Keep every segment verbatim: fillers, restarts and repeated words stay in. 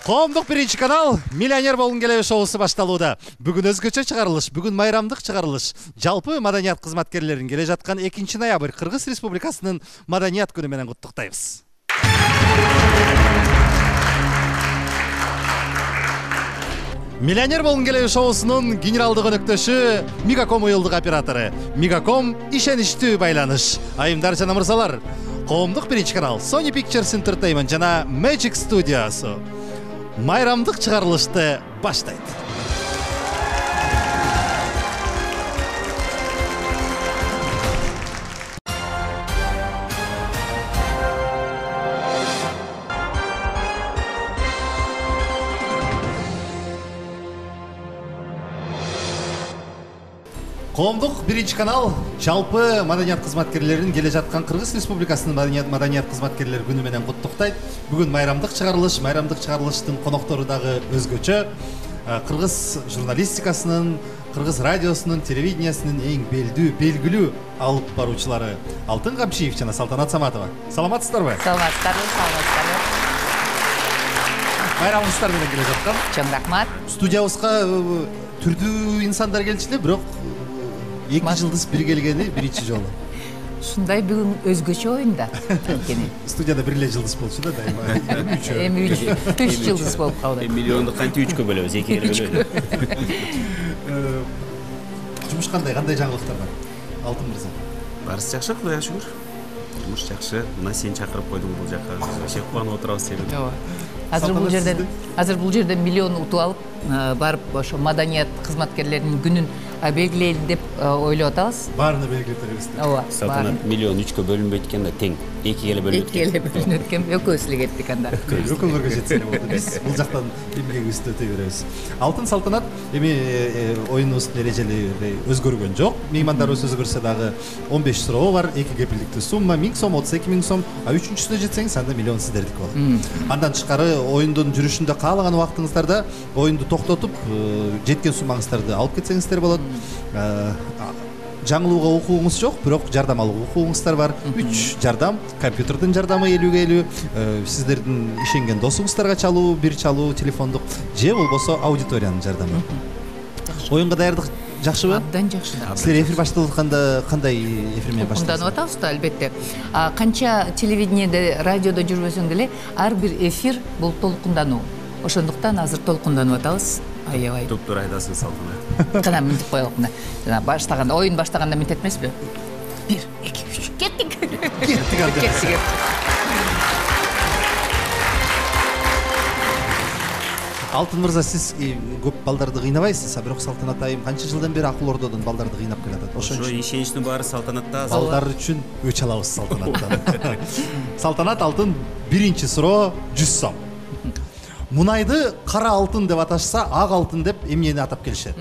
Коомдук биринчи канал Миллионер болгун келеби шоусу башталууда. Бүгүн өзгөчө чыгарылыш, бүгүн майрамдык чыгарылыш. Жалпы маданият кызматкерлерин келе жаткан экинчи ноябрь Кыргыз Республикасынын маданият күнү менен куттуктайбыз. Миллионер болгун келеби шоусунун генералдык өнөктөшү Мегаком уюлдук оператору. Мегаком ишеничтүү байланыш. Айымдар жана мырзалар, коомдук биринчи канал Sony Pictures Entertainment жана Magic Studios'у майрамдык чыгарылышты баштайт. Коомдук биринчи канал жалпы маданият кызматкерлерин келе жаткан Кыргыз Республикасынын маданият маданият кызматкерлери күнү менен куттуктайт. Бүгүн майрамдык чыгарылыш, майрамдык чыгарылыштын коноктору дагы өзгөчө. Кыргыз журналистикасынын, Кыргыз радиосунун, телевидениясынын эң белдүү, белгилүү алып баруучулары Алтын Камчиев жана Салтанат Саматова. Саламатсыздарбы? Саламатсыздарбы, саламатсыздарбы. Майрамыңыздар менен келе жаткан. Чоң рахмат. Студиябызга түрдүү инсандар келчү эле, бирок эки жылдыз бир келгени биринчи жолу. Ушундай бүгүн өзгөчө оюнда экен. Студияда бир эле жылдыз болчу да дайыма. Эми үч үч жылдыз болуп калды. Миллионду кантип үчкө бөлөбүз, экиге бөлөбүз. Жумуш кандай, кандай жаңылыктар бар? Алтын мырза. Барысы жакшы, Кудайга шүгүр. Жумуш жакшы. Мына сени чакырып койдуң бул жака. Вообще кубанып отурабыз сени. Ооба. Азыр бул жерден азыр бул жерден миллион утуп алып, барып ошо маданият кызматкерлеринин күнүн белгилейли деп ойлоп атабыз. Баарына белгилеп беребиз. Ооба. Салтанат миллион үчкө бөлүнбөйт экен да, тең. экиге эле бөлүнөт. экиге эле бөлүнөт экен. Экөөбүз эле кеттик анда. Экөөңөргө жетсе болду. Биз бул жактан эмгегибизди өтөй беребиз. Алтын Салтанат, эми оюнубуздун эрежелери өзгөргөн жок. Меймандарыбыз өзгөрсө дагы он беш суроо бар, эки кепилдиктүү сумма миң сом, отуз эки миң сом, а үчүнчүсүнө жетсеңиз анда миллион сиздердики болот. Андан тышкары оюндун жүрүшүндө каалаган убактыңыздарда оюнду токтотуп, жеткен суммаңыздарды алып кетсеңиздер болот. Жаңылууга укугуңуз жок, бирок жардам алууга укугуңуздар бар. үч жардам, компьютердин жардамы элүүгө элүү, сиздердин ишенген досуңуздарга чалуу, бир чалуу телефондук, же болбосо аудиториянын жардамы. Оюнга даярдык жакшыбы? Абдан жакшы. Силер эфир башталып атканда кандай эфир менен баштадыңыздар? Толкунданып атабыз да, албетте. Канча телевидениеде, радиодо жүрбөсөң деле, ар бир эфир бул толкундануу. Ошондуктан азыр толкунданып атабыз. Аябай. Туптуура айтасың, Салтанат. Кана минтип коелук мына. Жана баштаганда, оюн баштаганда минтет эмеспи? бир, эки, үч, кеттик. Кеттик анда. Алтын мырза, сиз көп балдарды кыйнабайсыз, а бирок Салтанат айым канча жылдан бери акыл ордодон балдарды кыйнап келатат. Ошо ишеничтин баары Салтанатта. Балдар үчүн өч алабыз Салтанаттан. Салтанат, Алтын, биринчи суроо жүз сом. Мунайды кара алтын деп аташса, ак алтын деп эмнени атап келишет?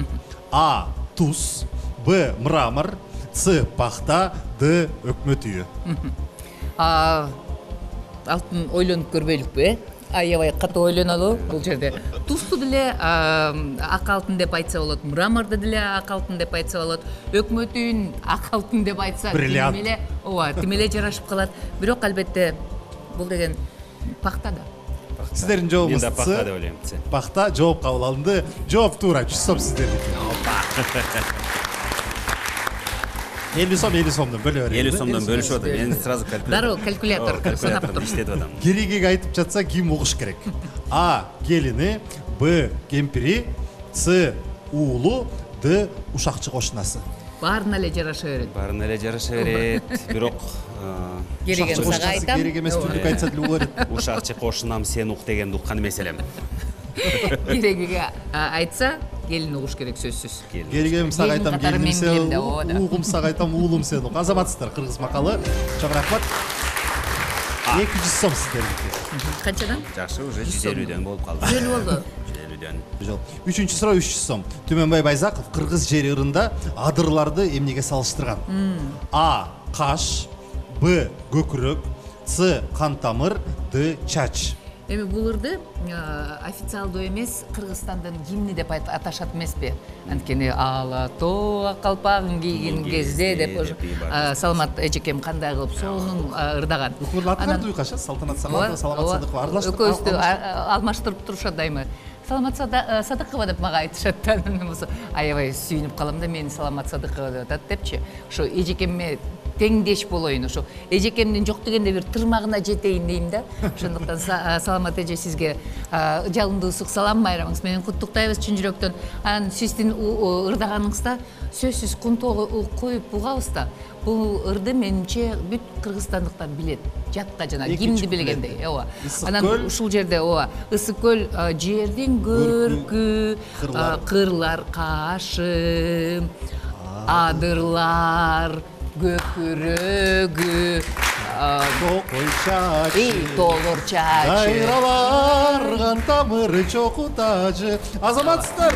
А. Туз, Б. Мрамор, С. Пахта, Д. Өкмөт үйү. Алтын ойлонуп көрбөйлүкпү, э? Аябай катуу ойлонолу бул жерде. Тузду деле ак алтын деп айтса болот, мраморду деле ак алтын деп айтса болот, өкмөт үйүн ак алтын деп айтса тимеле, ооба, тимеле жарашып калат. Бирок албетте бул деген пахта да. Сиздердин жообуңуз С. Пахта деп ойлойм. Пахта жооп кабыл алынды. Жооп туура, жүз сом сиздердики. элүү сом, элүү сомдон бөлө берейин. элүү сомдон бөлүшүп атам. Мен сразу калькулятор. Дароо калькулятор санап туруп иштетип атам. Кереги айтып жатса ким угуш керек? А. Келини, Б. Кемпири, С. Уулу, Д. Ушакчы кошунасы. Баарына эле жараша берет. Баарына эле жараша берет. Бирок кереген сага айтам. Керек эмес түрлүк айтса деле болот. Ушакчы кошунам, сен ук дегенди уккан эмес элем. Керегиге айтса, келин угуш керек сөзсүз. Керегем сага айтам, келиним сен, уулум сага айтам, уулум сен ук. Азаматсыздар, кыргыз макалы. Чоң рахмат. эки жүз сом сиздердики. Канчадан? Жакшы, уже жүз элүүдөн болуп калды. жүз элүү болду. жүз элүүдөн. Жол. Үчүнчү суроо үч жүз сом. Түмөнбай Байзаков кыргыз жери ырында адырларды эмнеге салыштырган? А. Каш, Б. Көкүрөк, С. Кан тамыр, Д. Чач. Эми бул ырды официалдуу эмес Кыргызстандын гимни деп аташат эмеспи? Анткени ала тоо калпагын кийген кезде деп Саламат эжекем кандай кылып сонун ырдаган. Укурлу аттар дуйкаша Салтанат Саматова, Саламат Садыкова аралаштырып. Экөөбүздү алмаштырып турушат дайыма. Саламат Садыкова деп мага айтышат да. Аябай сүйүнүп калам да, мени Саламат Садыкова деп атат депчи. Ошо эжекемме теңдеш болоюн, ошо эжекемдин жок дегенде бир тырмагына жетейин дейм да. Ошондуктан Саламат эже сизге жалындуу ысык салам, майрамыңыз менен куттуктайбыз чын жүрөктөн. Анан сиздин ырдаганыңызда сөзсүз кунтоого коюп угабыз да. Бул ырды менимче бүт кыргызстандыктар билет. Жатка жана гимди билгендей. Ооба. Анан ушул жерде ооба, Ысык көл жердин көркү, кырлар кашы, адырлар көкүрөгү, кой чачы, толур чачы, кайраларган тамыры чоку тажы. Азаматсыздар.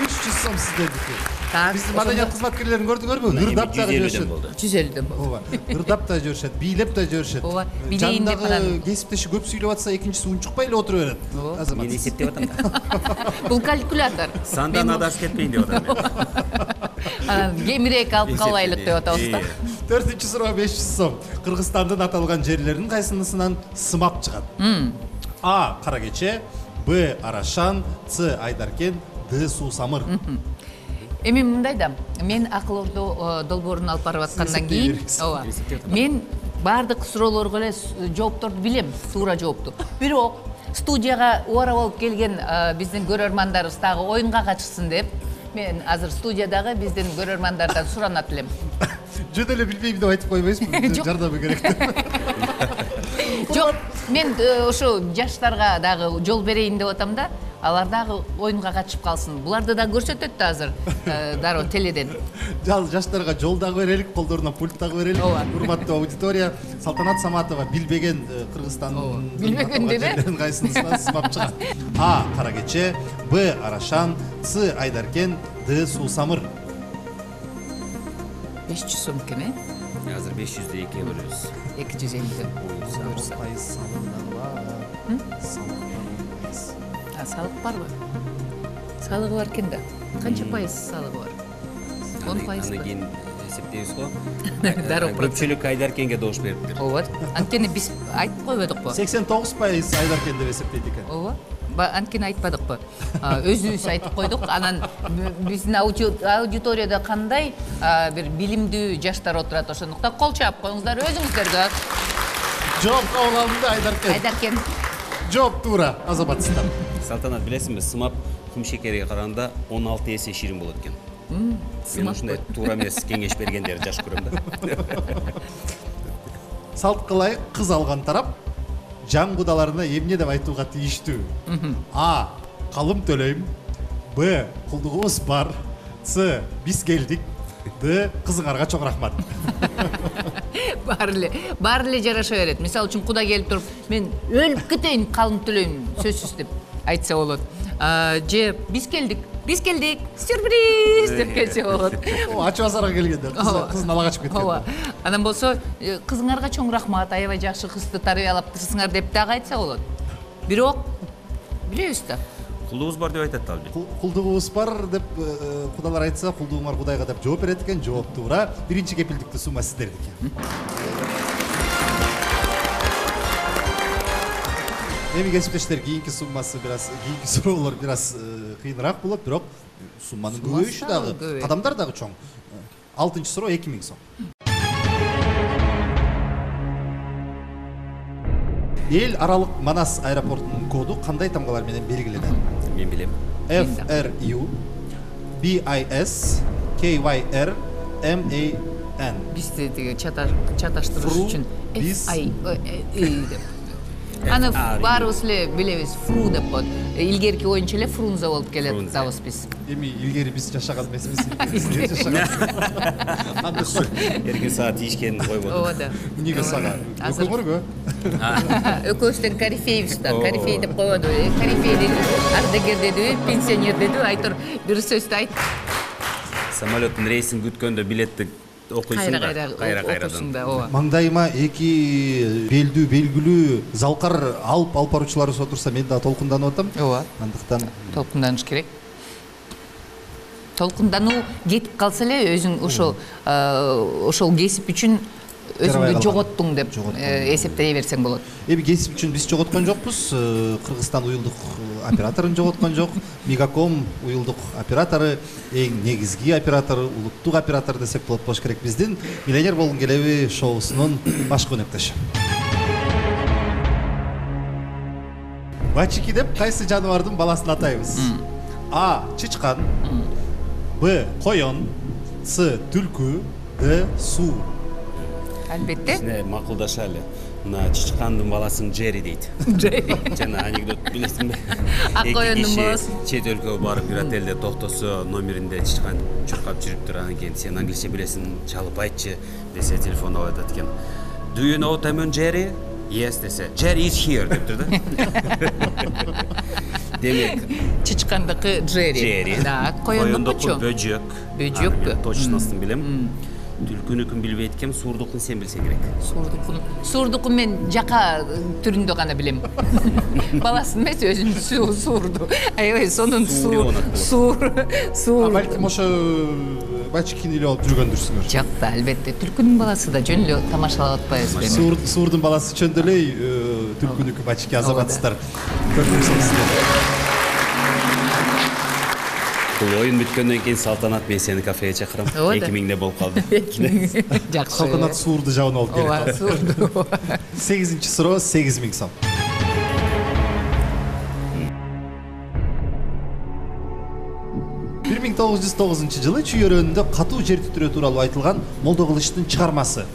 үч жүз сом сиздердики. Биздин маданият кызматкерлерин көрдүңөрбү? Ырдап да жүрүшөт. жүз элүүдөн болду. Ооба. Ырдап да жүрүшөт, бийлеп да жүрүшөт. Ооба. Билейин деп анан кесиптеши көп сүйлөп атса, экинчиси унчукпай эле отура берет. Азамат. Мен эсептеп атам да. Бул калькулятор. Сандан адашып кетпейин деп атам мен. Анан кемирээк алып калбайлык деп атабыз да. төртүнчү суроо беш жүз сом. Кыргызстандын аталган жерлеринин кайсынысынан сымап чыгат? А. Кара кече, Б. Арашан, С. Айдаркен, Д. Суусамыр. Эми мындай да, мен акыл ордо долбоорун алып барып аткандан кийин, ооба, мен баардык суроолорго эле жоопторду билем, туура жоопту. Бирок студияга убара болуп келген биздин көрөрмандарыбыз дагы оюнга катышсын деп, мен азыр студиядагы биздин көрөрмандардан суранат элем. Жөн эле билбейм деп айтып койбойсузбу? Жардамы керек деп. Жок, мен ошо жаштарга дагы жол берейин деп атам да. Алар дагы оюнга катышып калсын. Буларды да көрсөтөт да азыр дароо теледен. Жал жаштарга жол дагы берелик, колдоруна пульт дагы берелик. Урматтуу аудитория, Салтанат Саматова билбеген Кыргызстандын билбеген деби? Кайсынысынан сымап чыгат? А. Кара кече, Б. Арашан, С. Айдаркен, Д. Суусамыр. беш жүз сом экен, э? Азыр беш жүздү экиге бөлөбүз. эки жүз элүү. Пайыз салык бар. Салык А салык барбы? Салыгы бар экен да. Канча пайыз салыгы бар? он пайыз. Андан кийин эсептейбиз го. Дароо Көпчүлүк Айдаркенге добуш бериптир. Ооба. Анткени биз айтып койбодукпу? сексен тогуз пайыз Айдаркен деп эсептейт экен. Ооба. Анткени айтпадыкпы? Өзүбүз айтып койдук. Анан биздин аудиторияда кандай бир билимдүү жаштар отурат, ошондуктан кол чаап коюңуздар өзүңүздөргө. Жооп кабыл алдым да, Айдаркен. Айдаркен. Жооп туура, азаматсыздар. Салтанат, билесиңби, сымап кум шекерге караганда он алты эсе ширин болот экен. Мен ушундай туура эмес кеңеш бергендерди жакшы көрөм да. Салт кылайык, кыз алган тарап жан кудаларына эмне деп айтууга тийиштүү? А. Калым төлөйм. Б. Кулдугубуз бар. С. Биз келдик. Д. Кызыңарга чоң рахмат. Баары эле, баары эле жараша берет. Мисалы үчүн куда келип туруп, мен өлүп кетейин, калым төлөйм, сөзсүз деп айтса болот. Же биз келдик, биз келдик, сюрприз деп келсе болот. Ачуу азарга келгенде, кыздын ала качып кеткен. Ооба. Анан болсо, кызыңарга чоң рахмат, аябай жакшы кызды тарбиялаптырсыңар деп дагы айтса болот. Бирок билебиз да. Кулдугубуз бар деп айтат албы. Кулдугубуз бар деп кудалар айтса, кулдугуңар Кудайга деп жооп берет экен. Жооп туура. Биринчи кепилдиктүү сумма сиздердики. Эми кесиптештер, кийинки суммасы бир аз, кийинки суроолор бир аз кыйыныраак болот, бирок сумманын көбөйүшү дагы, кадамдар дагы чоң. алтынчы суроо эки миң сом. Эл аралык Манас аэропортунун коду кандай тамгалар менен белгиленет? Мен билем. F R U B I S K Y R M A N. Бизди тиги чаташтырыш үчүн F I E деп. Аны баарыбыз эле билебиз, фру деп коет. Илгерки боюнча эле Фрунзе болуп келатабыз биз. Эми илгери биз жашаган эмеспиз. Илгери жашаган. Эркин саат тийишкен койбодук. Ооба да. Эмнеге сага? Өкөңөргө? Экөөбүздөн корифейбиз да, корифей деп коёду. Корифей деди, ардагер деди, пенсионер деди, айтор бир сөздү айт. Самолеттун рейсин күткөндө билетти окуйсуң да кайра кайра окуйсуң кайрадан. да, ооба. Маңдайыма эки белдүү белгилүү залкар алып алып баруучуларыбыз отурса мен дагы толкунданып атам. Ооба. Андыктан Толкунданыш керек. Толкундануу кетип калса эле өзүң ошол ошол кесип үчүн өзүңдү жоготтуң деп эсептей берсең болот. Эми кесип үчүн биз жоготкон жокпуз. Кыргызстан уюлдук операторун жоготкон жок. Мегаком уюлдук оператору, эң негизги оператор, улуттук оператор десек болот болуш керек. Биздин Миллионер болгун келеби шоусунун баш өнөктөшү. Бачики деп кайсы жаныбардын баласын атайбыз? А. Чычкан, Б. Коён, С. Түлкү, Д. Суу. Албетте. Сине макулдашалы. Мына чычкандын баласын Джери дейт. Джери. Жана анекдот билесиңби? Ак коёндун баласы. Чет өлкөгө барып бир отелде токтосо, номеринде чычкан чуркап жүрүптүр. Анан кийин сен англисче билесиң, чалып айтчы десе телефон алып атат экен. Do you know Tom and Jerry? Yes десе. Jerry is here дептир да. Демек, Чычкандыкы Джери. Джери. Да, коёндукучу. Бөжөк. Бөжөкпү? Точносын билем. Түлкүнүкүн билбейт экем, суурдукун сен билсең керек. Суурдукун. Суурдукун мен жака түрүндө гана билем. Баласын эмес, өзүн суурду. Аябай сонун суур. Суур. Суур. Балким ошо бачкини эле алып жүргөндүрсүңөр. Жок да, албетте. Түлкүнүн баласы да жөн эле тамашалап атпайбызбы? Суур суурдун баласы чөндө эле түлкүнүкү бачки азаматсыздар. Көрдүңүздөр. Бул оюн бүткөндөн кийин Салтанат мен сени кафеге чакырам. эки миңде болуп калды. Жакшы. Салтанат суурду жабын алып келет. Ооба, суурду. сегизинчи суроо сегиз миң сом. бир миң тогуз жүз тогузунчу жылы Чүйөрөндө катуу жер титирөө тууралуу айтылган Молдокылычтын чыгармасы.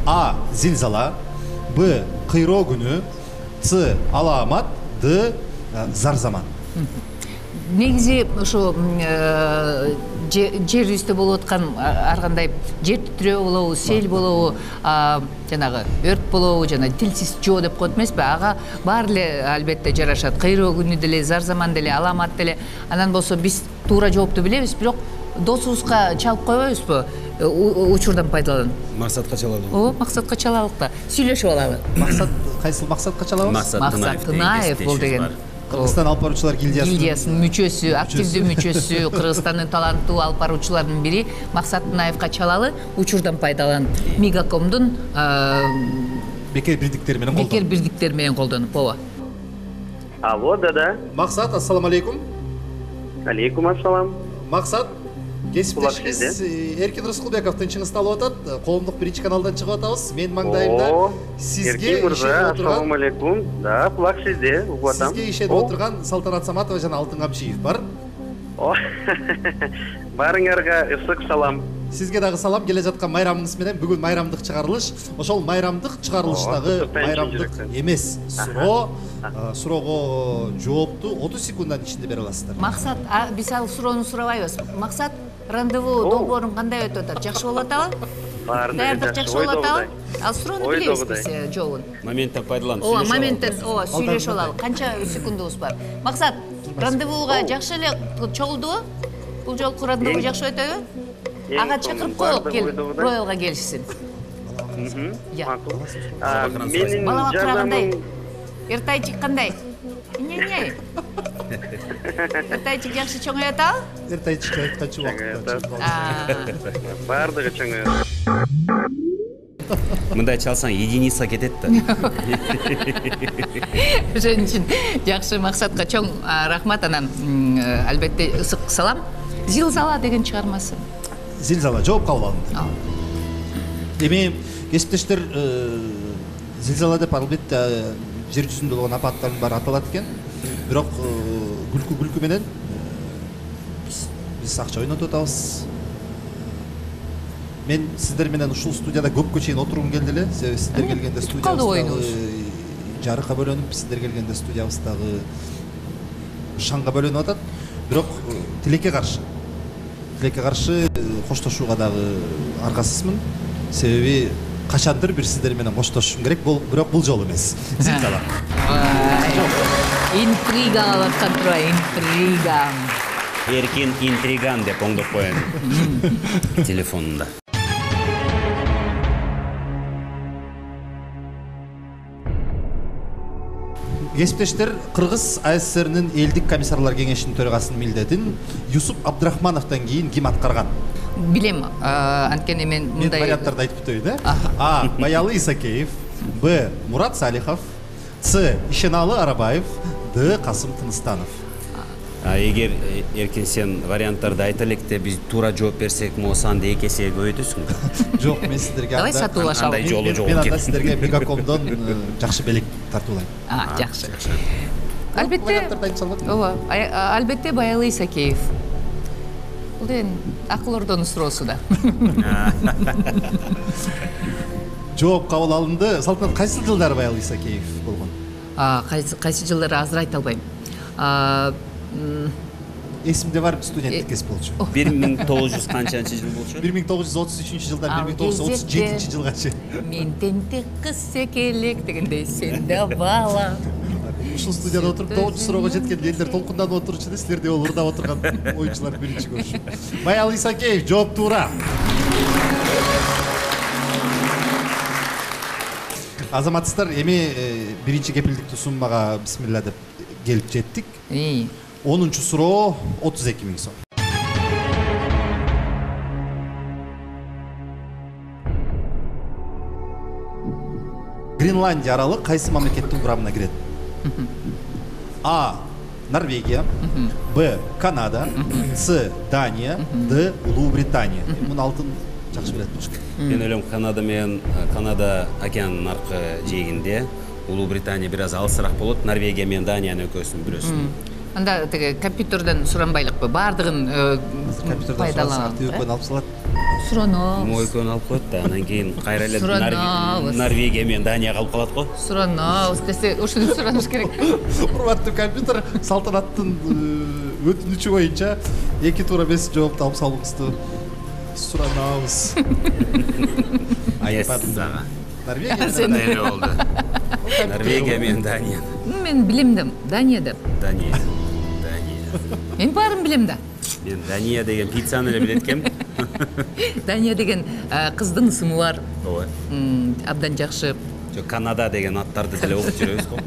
А. Зилзала, Б. Кыйроо күнү, С. Алаамат, Д. Зар заман. Негизи ошо жер үстү болуп аткан ар кандай жер титирөө болобу, сел болобу, жанагы өрт болобу, жана тилсиз жоо деп коет эмеспи? Ага баары эле албетте жарашат. Кыйроо күнү деле, зар заман деле, алаамат деле. Анан болсо биз туура жоопту билебиз, бирок досубузга чалып койбойбузбу? Учурдан пайдаланып. Максатка чалалы. Ооба, максатка чалалык да. Сүйлөшүп алалы. Максат кайсыл максатка чалабыз? Максат Тынаев бул деген. Кыргызстан алып баруучулар гильдиясынын гильдиясынын мүчөсү, активдүү мүчөсү, Кыргызстандын таланттуу алып баруучуларынын бири Максат Тынаевга чалалы учурдан пайдаланып Мегакомдун бекер бирдиктери менен колдонуп. Бекер бирдиктери менен колдонуп, ооба. Алло, да-да. Максат, ассаламу алейкум. Алейкум ассалам. Максат, кесиптешибиз Эркин Рыскулбековдун чыңгысты алып атат. Коомдук биринчи каналдан чыгып атабыз. Менин маңдайымда сизге ишенип отурган. Ассаламу алейкум. Да, кулак сизде, угуп атам. Сизге ишенип отурган Салтанат Саматова жана Алтын Камчиев бар. Баарыңарга ысык салам. Сизге дагы салам. Келе жаткан майрамыңыз менен бүгүн майрамдык чыгарылыш. Ошол майрамдык чыгарылыштагы майрамдык эмес суроо, суроого жоопту отуз секунддун ичинде бере аласыздар. Максат, биз ал суроону сурабайбыз. Максат, рандеву долбоорун кандай өтүп атат? Жакшы болуп атабы? Даярдык жакшы болуп атабы? Ал суроону билебиз биз жообун. Моменттен пайдаланып Ооба, моменттен, ооба, сүйлөшүп алалы. Канча секундубуз бар? Максат, рандевуга жакшы эле чогулдубу? Бул жолку рандеву жакшы өтөбү? Ага чакырып коелук, кел, роялга келишсин. Макул. Менин жардамым Эртайчик кандай? Не-не. Эртайчик жакшы чоңой атабы? Эртайчик айтканчы убакытта. Баардыгы чоңой. Мындай чалсаң единица кетет да. Ошон үчүн жакшы Максатка чоң рахмат, анан албетте ысык салам. Зилзала деген чыгармасы. Зилзала жооп кабыл алынды. Эми кесиптештер, зилзала деп албетте жер жүзүндө болгон апаттардын баары аталат экен. Бирок күлкү күлкү менен биз акча ойнотуп атабыз. Мен сиздер менен ушул студияда көпкө чейин отургум келди эле. Себеби сиздер келгенде студиябыз жарыкка бөлөнүп, сиздер келгенде студиябыз дагы шаңга бөлөнүп атат. Бирок тилекке каршы. Тилекке каршы коштошууга дагы аргасызмын. Себеби качандыр бир сиздер менен коштошушум керек, бирок бул жолу эмес. Зилзала. Интрига алып аткан тура, интрига. Эркин интриган деп оңдоп коеюн телефонунда. Кесиптештер, Кыргыз АССРнин элдик комиссарлар кеңешинин төрагасынын милдетин Юсуп Абдрахмановдон кийин ким аткарган? Билем, анткени мен Мен мындай варианттарды айтып өтөйүн, э? А. Баялы Исакеев, Б. Мурат Салихов, С. Ишеналы Арабаев, Д. Касым Тыныстанов. А эгер эркин сен варианттарды айта электе биз туура жооп берсек, могу санды эки эсеге көбөйтөсүң. Жок, мен сиздерге Давай сатуулашалы. Андай жолу жок. Мен анда сиздерге Мегакомдон жакшы белек тартуулайм. А, жакшы. Албетте. Варианттарды айтып салбадым. Ооба, албетте Баялы Исакеев. Бул эми акыл ордонун суроосу да. Жооп кабыл алынды. Салтанат, кайсы жылдары Баялы Исакеев болгон? А, кайсы кайсы жылдары азыр айта албайм. А, Эсимде бар, студенттик кесип болчу. бир миң тогуз жүз канчанчы жыл болчу? бир миң тогуз жүз отуз үчүнчү жылдан бир миң тогуз жүз отуз жетинчи жылга чейин. Мен тентек кыз секелек дегендей, сен да бала. Ушул студияда отуруп тогузунчу суроого жеткенде элдер толкунданып отурчу да, силерде ол ырдап отурган оюнчулар биринчи көрүшүп. Баялы Исакеев, жооп туура. Азаматсыздар, эми биринчи кепилдиктүү суммага бисмилла деп келип жеттик. онунчу суроо отуз эки миң сом. Гренландия аралы кайсы мамлекеттин курамына кирет? А. Норвегия, Б. Канада, С. Дания, Д. Улуу Британия. Муну алтын жакшы билет болуш керек. Мен ойлойм, Канада менен Канада океандын аркы жээгинде, Улуу Британия бир аз алысыраак болот. Норвегия менен Даниянын экөөсүн бирөөсүн. Анда теге компьютерден суранбайлыкпы? Баардыгын пайдаланат. Компьютерден алып салат. Суранабыз. Мо экөөнү алып коет да, анан кийин кайра эле Суранабыз. Норвегия менен Дания калып калат го. Суранабыз десе, ошону сураныш керек. Урматтуу компьютер, Салтанаттын өтүнүчү боюнча эки туура эмес жоопту алып салуңузду суранабыз. Айтпадым дагы. Норвегия Эле болду. Норвегия менен Дания. Мен билем да, Дания деп. Дания. Дания. Мен баарын билем да. Мен Дания деген пиццаны эле билет экенмин. Дания деген кыздын ысымы бар. Ооба. Абдан жакшы. Жок, Канада деген аттарды деле окуп жүрөбүз го.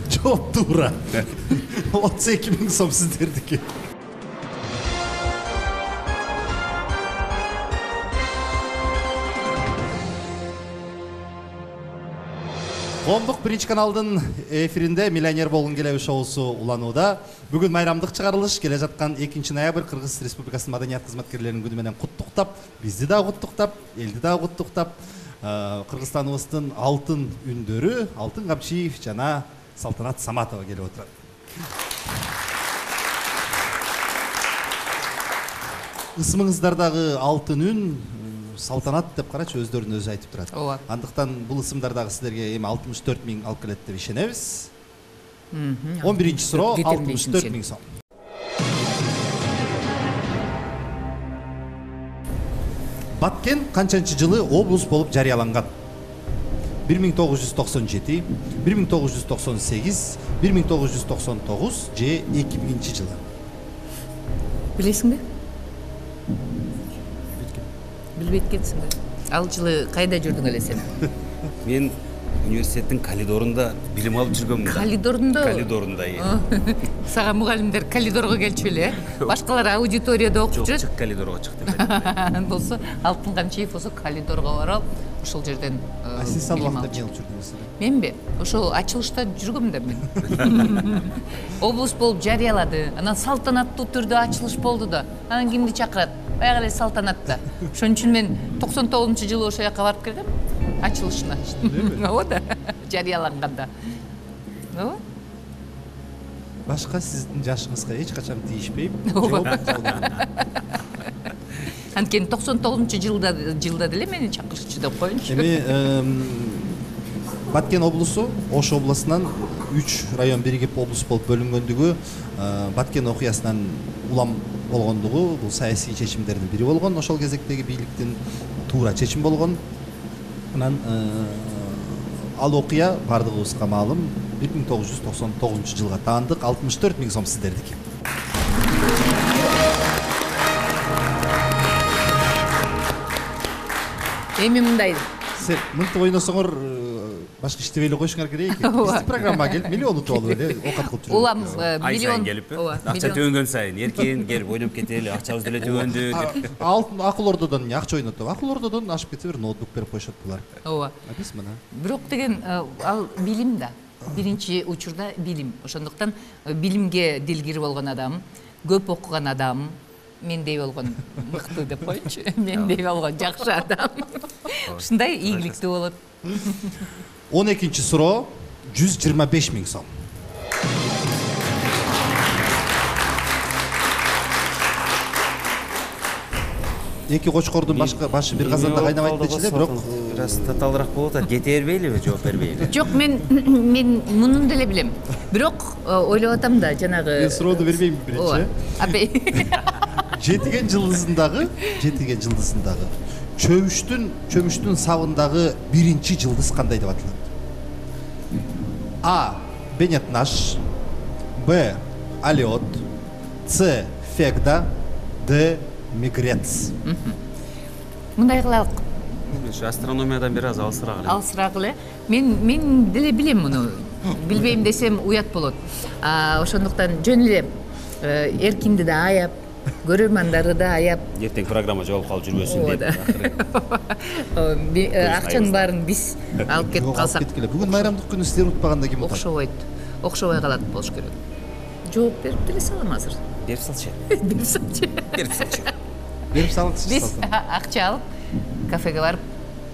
жооп туура. отуз эки миң сом сиздердики. Коомдук биринчи каналдын эфиринде Миллионер болгун келеби шоусу уланууда. Бүгүн майрамдык чыгарылыш келе жаткан экинчи ноябрь Кыргыз Республикасынын маданият кызматкерлеринин күнү менен куттуктап, бизди дагы куттуктап, элди дагы куттуктап, Кыргызстаныбыздын алтын үндөрү Алтын Камчиев жана Салтанат Саматова келип отурат. Ысымыңыздардагы алтын үн Салтанат деп карачы, өздөрүнүн өзү айтып турат. Ооба. Андыктан бул ысымдар дагы сиздерге эми алтымыш төрт миң алып келет деп ишенебиз. он биринчи суроо алтымыш төрт миң сом. Баткен канчанчы жылы облус болуп жарыяланган? бир миң тогуз жүз токсон жети, бир миң тогуз жүз токсон сегиз, бир миң тогуз жүз токсон тогуз же эки миңинчи жылы? Билесиңби? Билбейт экенсиң да. Ал жылы кайда жүрдүң эле сен? Мен университеттин коридорунда билим алып жүргөмүн. Коридорунда? Коридорунда. Сага мугалимдер коридорго келчү эле, башкалар аудиторияда окуп жүрөт. Жок, коридорго чыкты. Болсо, Алтын Камчиев болсо коридорго барып, ошол жерден А сиз ал убакта эмне кылып жүрдүңүз? Менби? Ошол ачылышта жүргөм да мен. Облус болуп жарыялады. Анан салтанаттуу түрдө ачылыш болду да. Анан кимди чакырат? Баягы эле Салтанатта. Ошон үчүн мен токсон тогузунчу жылы ошол жака барып келгем. Ачылышына. Ооба да. Жарыяланганда. Ооба. Башка сиздин жашыңызга эч качан тийишпейм. Анткени токсон тогузунчу жылда жылда деле мени чакырчу деп коюнчу. Эми Баткен облусу Ош областынан үч район биригип облус болуп бөлүнгөндүгү, Баткен окуясынан улам болгондугу бул саясий чечимдердин бири болгон. Ошол кезектеги бийликтин туура чечим болгон. Анан ал окуя бардыгыбызга маалым бир миң тогуз жүз токсон тогузунчу жылга таандык. алтымыш төрт миң сом сиздердики. Эми мындай, сен мынтип ойносоңор башка иштебей эле коюшуңар керек экен. Биздин программага келип миллион утуп алып эле оокат кылып жүрөбүз. Улам миллион келип, акча төөнгөн сайын эркин келип ойноп кетели, акчабыз деле төбөндү деп. Алтын акыл ордодон эмне акча ойнотуп, акыл ордодон ашып кетсе бир ноутбук берип коюшат булар. Ооба. Биз мына. Бирок деген ал билим да. Биринчи учурда билим. Ошондуктан билимге дилгир болгон адам, көп окуган адам, мендей болгон мыкты деп коечу. Мендей болгон жакшы адам. Ушундай ийгиликтүү болот. он экинчи суроо жүз жыйырма беш миң сом. Эки кочкордун башка башы бир казанда кайнабайт дечи эле, бирок бир аз татаалыраак болуп атат. Кете бербейлиби, жооп бербейли? Жок, мен мен мунун деле билем. Бирок ойлоп атам да, жанагы мен суроону бербейм биринчи. Апей. Жетиген жылдызындагы, жетиген жылдызындагы чөмүштүн чөмүштүн сабындагы биринчи жылдыз кандай деп аталат? А. Беннет Наш, Б. Алиот, С. Фегда, Д. Мигрец. Мындай кылалык. Астрономиядан бир аз алысыраак эле. Алысыраак эле. Мен мен деле билем муну. Билбейм десем уят болот. А ошондуктан жөн эле эркинди да аяп, көрөрмандарды да аяп. Эртең программа жоолуп калып жүрбөсүн деп. Акчанын баарын биз алып кетип калсак. Бүгүн майрамдык күнү сиздер унутпаганда ким утат? Окшобойт. Окшобой калат болуш керек. Жооп берип деле салам азыр. Берип салчы. Берип салчы. Берип салчы. Берип салыңыз. Биз акча алып кафеге барып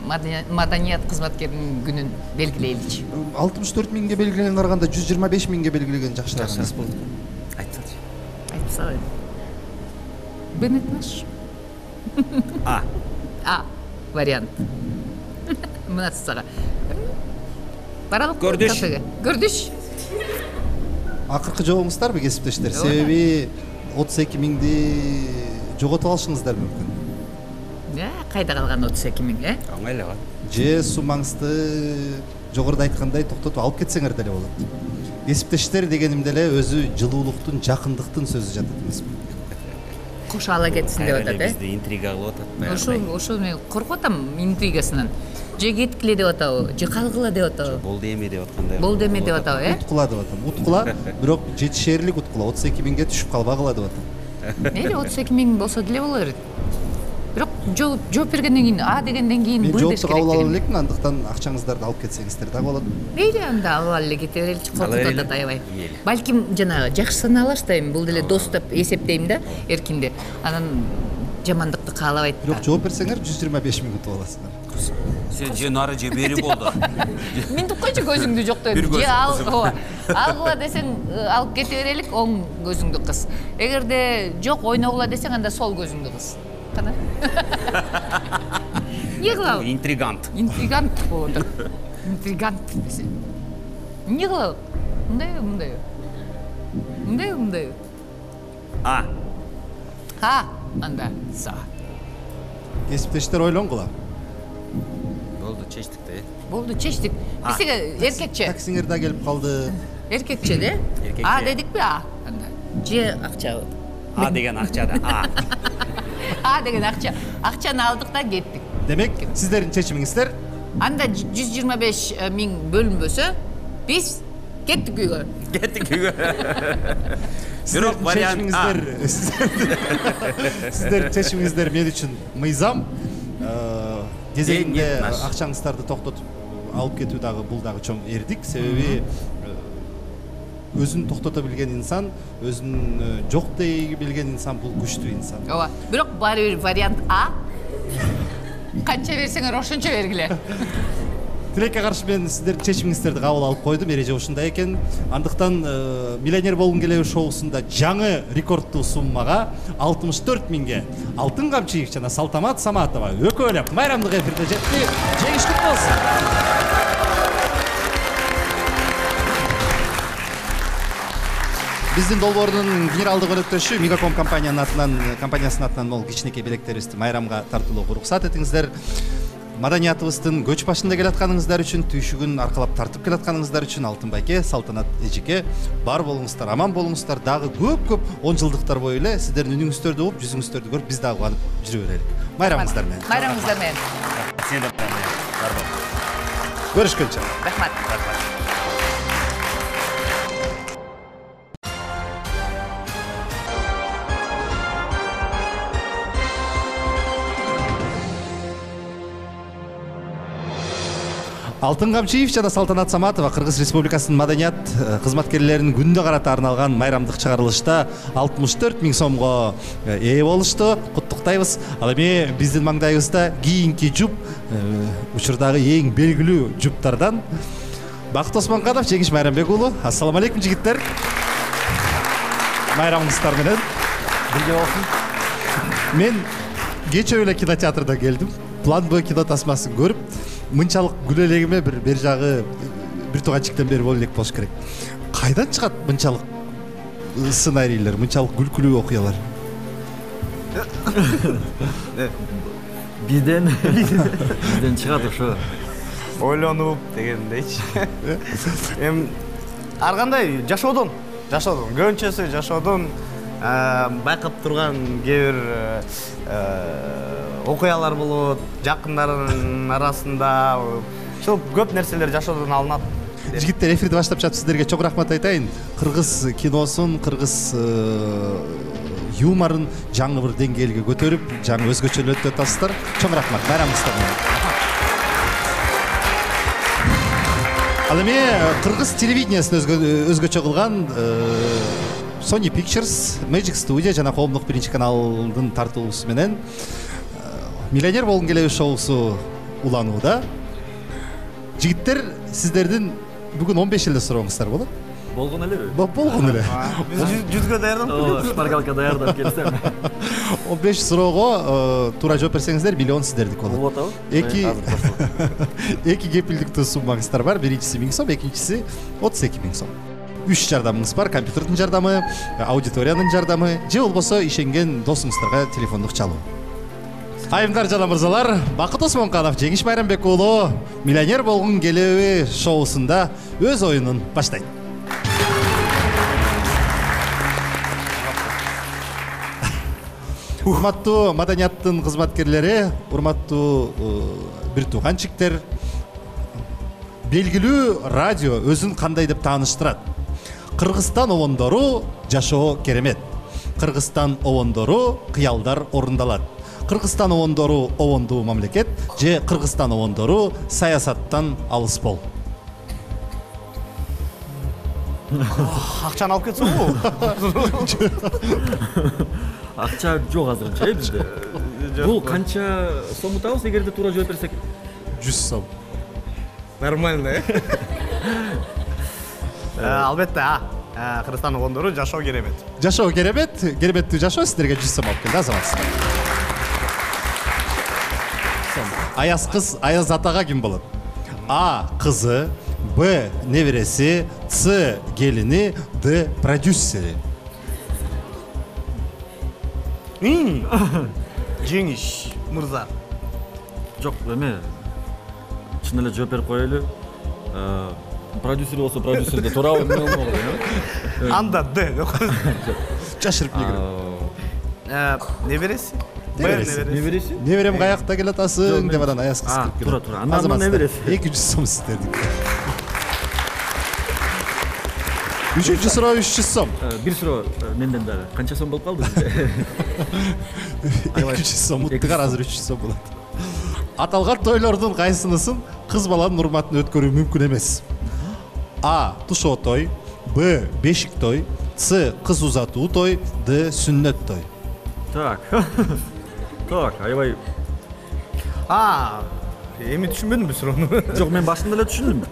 маданият кызматкеринин күнүн белгилейличи. алтымыш төрт миңге белгилеген караганда жүз жыйырма беш миңге белгилеген жакшыраак эмес болду. Айтсачы. Айтып салайын. Беннет Наш. А. А вариант. Мына сага. Баралык кафеге. Көрдүш. Акыркы жообуңуздарбы кесиптештер? Себеби отуз эки миңди жоготуп алышыңыздар мүмкүн. Я, кайда калган отуз эки миң, э? Оңой эле го. Же сумаңызды жогоруда айткандай токтотуп алып кетсеңер деле болот. Кесиптештер дегеним деле өзү жылуулуктун, жакындыктын сөзү жатат эмеспи? Кошо ала кетсин деп атат, э? Бизди интрига кылып атат. Ошо ошо мен коркуп атам интригасынан. Же кеткиле деп атабы, же калгыла деп атабы. Болду эме деп аткандай. Болду эме деп атабы, э? Уткула деп атам. Уткула, бирок жетишээрлик уткула. отуз эки миңге түшүп калбагыла деп атам. Мейли отуз эки миң болсо деле боло берет. Бирок жооп жооп бергенден кийин, А дегенден кийин Мен Б деш жоопту керек. кабыл ала элекмин, андыктан акчаңыздарды алып кетсеңиздер да болот. Мейли анда алып эле кете береличи, коркутуп атат аябай. Балким жанагы жакшы саналаш да эми, бул деле дос деп эсептейм да, эркинди. Анан жамандыкты каалабайт. Бирок жооп берсеңер жүз жыйырма беш миң утуп аласыңар. Сен же нары же бери болду. Минтип койчу көзүңдү жоктойм. Же ал, ооба. Алгыла десең алып кете берелик, оң көзүңдү кыс. Эгерде жок ойногула десең анда сол көзүңдү кыс. Кана? Эмне кылабы? Интригант. Интригант болот. Интригант десе. Эмне кылабы? Мындайбы, мындайбы? Мындайбы, мындайбы? А. А, анда са. Кесиптештер ойлонгула. Болду, чечтик да. Болду, чечтик. Бизге эркекче. Таксиңер да келип калды. Эркекче де? А дедикпи? А. Анда. Же акчабы? А деген акча да. А. А деген акча. Акчаны алдык да кеттик. Демек, сиздердин чечимиңиздер? Анда жүз жыйырма беш миң бөлүнбөсө, биз кеттик үйгө. Кеттик үйгө. Бирок вариант А. Сиздердин чечимиңиздер мен үчүн мыйзам. Кезегинде акчаңыздарды токтотуп алып кетүү дагы бул дагы чоң эрдик, себеби өзүн токтото билген инсан, өзүн жок дей билген инсан бул күчтүү инсан. Ооба. Бирок баары бир вариант А. Канча берсеңер ошончо бергиле. Тилекке каршы мен сиздердин чечимиңиздерди кабыл алып койдум. Эреже ушундай экен. Андыктан миллионер болгум келеби шоусунда жаңы рекордтуу суммага алтымыш төрт миңге Алтын Камчиев жана Салтамат Саматова өкөлөп майрамдык эфирде жетти. Жеңиштик болсун. Биздин долбоордун генералдык өнөктөшү Мегаком компаниянын атынан, компаниясынын атынан могул кичинекей билектерибизди майрамга тартуулоого уруксат этиңиздер. Маданиятыбыздын көч башында келатканыңыздар үчүн, түйшүгүн аркалап тартып келатканыңыздар үчүн Алтын байке, Салтанат эжеке бар болуңуздар, аман болуңуздар. Дагы көп-көп он жылдыктар бою эле сиздердин үнүңүздөрдү угуп, жүзүңүздөрдү көрүп биз дагы кубанып жүрө берели. Майрамыңыздар менен. Майрамыңыздар менен. Сен Көрүшкөнчө. Рахмат. Алтын Камчиев жана Салтанат Саматова Кыргыз Республикасынын маданият кызматкерлеринин күнүнө карата арналган майрамдык чыгарылышта алтымыш төрт миң сомго ээ болушту. Куттуктайбыз. Ал эми биздин маңдайыбызда кийинки жуп учурдагы эң белгилүү жуптардан Бакыт Осмонканов, Жеңиш Майрамбек уулу. Ассаламу алейкум жигиттер. Майрамыңыздар менен бирге болсун. Мен кечээ эле кинотеатрда келдим. План Б кино тасмасын көрүп, мынчалык күлө элегиме бир бер жагы бир тууганчиктен бери боло элек болуш керек. Кайдан чыгат мынчалык сценарийлер, мынчалык күлкүлүү окуялар? Бизден бизден чыгат ошо. Ойлонуп дегендейчи. Эми ар кандай жашоодон, жашоодон, көбүнчөсү жашоодон байкап турган кээ бир окуялар болот, жакындардын арасында. Ошол көп нерселер жашоодон алынат. Жигиттер, эфирди баштап жатып сиздерге чоң рахмат айтайын. Кыргыз киносун, кыргыз юморун жаңы бир деңгээлге көтөрүп, жаңы өзгөчөлөтүп атасыздар. Чоң рахмат. Байрамыңыздар менен. Ал эми кыргыз телевидениясын өзгөчө кылган Sony Pictures, Magic Studio жана Коомдук биринчи каналдын тартуусу менен Миллионер болгун келеби шоусу уланууда. Жигиттер, сиздердин бүгүн он беш эле сурооңуздар болот. Болгон элеби? Болгон эле. Биз жүзгө даярдап, шпаргалка даярдап келсем. он беш суроого туура жооп берсеңиздер, миллион сиздердики болот. Болот абы? Эки эки кепилдиктүү суммаңыздар бар. Биринчиси миң сом, экинчиси отуз эки миң сом. Үч жардамыңыз бар: компьютердин жардамы, аудиториянын жардамы, же болбосо ишенген досуңуздарга телефондук чалуу. Айымдар жана мырзалар, Бакыт Осмонканов, Жеңиш Майрамбек уулу Миллионер болгун келеби шоусунда өз оюнун баштайт. Урматтуу маданияттын кызматкерлери, урматтуу бир тууганчиктер, белгилүү радио өзүн кандай деп тааныштырат? Кыргызстан обондору жашоо керемет. Кыргызстан обондору кыялдар орундалат. Кыргызстан обондору обондуу мамлекет же Кыргызстан обондору саясаттан алыс бол. акчаны алып кетсеңби? Акча жок азырынча э бизде. Бул канча сом утабыз эгерде туура жооп берсек? жүз сом. Нормально, э? Албетте, Кыргызстан обондору жашоо керемет. Жашоо керемет, кереметтүү жашоо сиздерге жүз сом алып келди, азаматсыздар. Аяз кыз, Аяз атага ким болот? А. Кызы, Б. Небереси, С. Келини, Д. Продюсери. Жеңиш мырза. Жок, эме чын эле жооп берип коелу. Продюсер болсо продюсерде туурабы эмне болмок эле. Анда Д. Жашырып келип. Небереси? Небереси? Неберем каякта келе атасың деп анан Аяз кыз кирип келет. Туура, туура. Андан небереси. эки жүз сом сиздердики. Үчүнчү суроо үч жүз сом. Бир суроо менден дагы. Канча сом болуп калды бизде? эки жүз сом, уттугар азыр үч жүз сом болот. Аталган тойлордун кайсынысын кыз баланын урматына өткөрүү мүмкүн эмес? А. Тушоо той, Б. Бешик той, С. Кыз узатуу той, Д. Сүннөт той. Так. Так, аябай. А, эми түшүнбөдүм бу суроону. Жок, мен башында эле түшүндүм.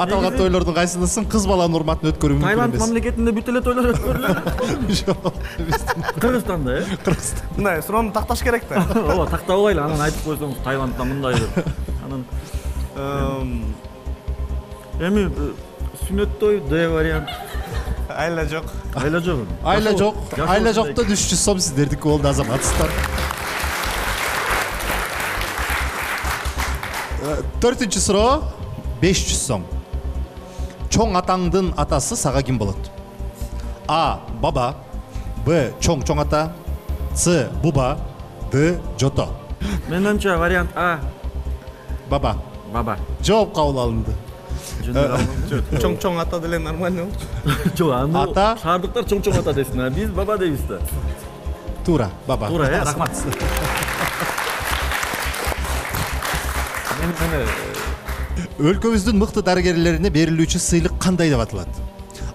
Аталган тойлордун кайсынысын кыз баланын урматына өткөрүү мүмкүн эмес? Таиланд мамлекетинде бүт эле тойлор өткөрүлөт. Жок. Кыргызстанда, э? Кыргызстан. Мындай суроону такташ керек да. Ооба, тактап алайлы, анан айтып койсоңуз Таиландда мындай деп. Анан эми сүннөт той Д вариант. Айла жок. Айла жок. Айла жок. Айла жоктон үч жүз сом сиздердики болду, азаматсыздар. Төртүнчү суроо беш жүз сом. Чоң атаңдын атасы сага ким болот? А. Баба, Б. Чоң чоң ата, С. Буба, Д. Жото. Менимче вариант А. Баба. Баба. Жооп кабыл алынды. Чоң-чоң ата деле нормально болчу. Жок, аны Ата. шаардыктар чоң-чоң ата десин, а биз баба дейбиз да. Туура, баба. Туура, э, рахмат. Мен мени Өлкөбүздүн мыкты дарыгерлерине берилүүчү сыйлык кандай деп аталат?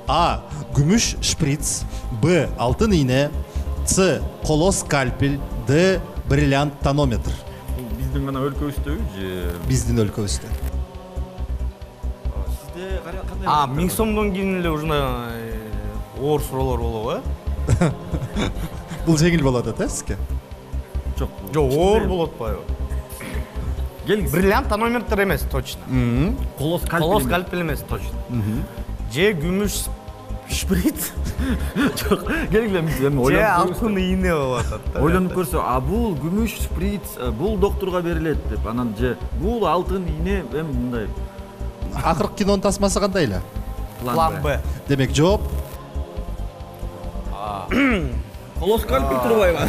А. Күмүш шприц, Б. Алтын ийне, С. Коло скальпель, Д. Бриллиант тонометр. биздин гана өлкөбүздөбү же Биздин өлкөбүздө. сизде кандай? А, миң сомдон кийин эле ушундай оор суроолор болобу, э? Бул жеңил болот да сизге? Жок. Жок, оор болот атпайбы? Келиңиз. Бриллиант тонометр эмес, точно. Коло скальпель. Коло скальпель эмес, точно. Же күмүш шприц, Жок, келгиле биз эми же ойлонуп алтын ийне болуп атат да. Ойлонуп көрсө, а бул күмүш шприц, бул доктурга берилет деп, анан же бул алтын ийне эми мындай Акыркы кинонун тасмасы кандай эле? План Б. Демек жооп коло скальпель турбайбы?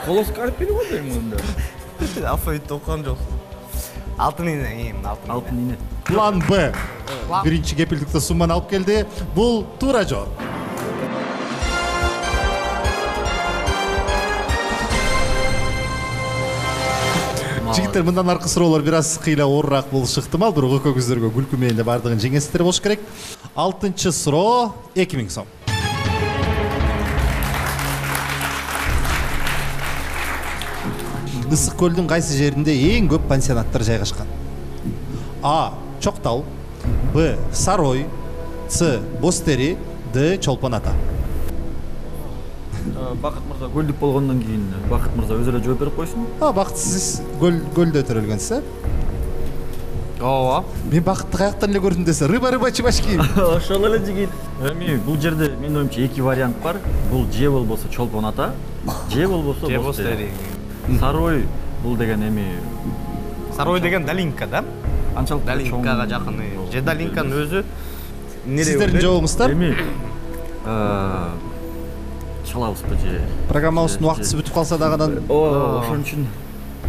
Коло скальпель го дейм мында. Алфавитти окуган жоксуң. Алтын ийне, алтын. Алтын ийне. план Б. План- Биринчи кепилдикте сумманы алып келди. Бул туура жооп. Жигиттер, мындан аркы суроолор бир аз кыйла оорураак болушу ыктымал, бирок экөөңүздөргө күлкү менен эле бардыгын жеңесиздер болуш керек. Алтынчы суроо эки миң сом. Ысык көлдүн кайсы жеринде эң көп пансионаттар жайгашкан? А. Чоктал, Б. Сарой, С. Бостери, Д. Чолпон ата. Бакыт мырза көлдүк болгондон кийин Бакыт мырза өзү эле жооп берип койсун. А, бакытсыз көл көлдө төрөлгөнсүз, э? Ооба. Мен бакытты каяктан эле көрдүм десе, рыба рыба чебашки. Ошол эле жигит. Эми бул жерде менин оюмча эки вариант бар. Бул же болбосо Чолпон ата, же болбосо Же Бостери. Бостери. Сарой бул деген эми Сарой деген Далинка, да? анчалык Далинкага жакын. Же Далинканын өзү нере Сиздердин жообуңуздар? Эми чалабызбы же Программабыздын убактысы бүтүп калса дагы О, ошон үчүн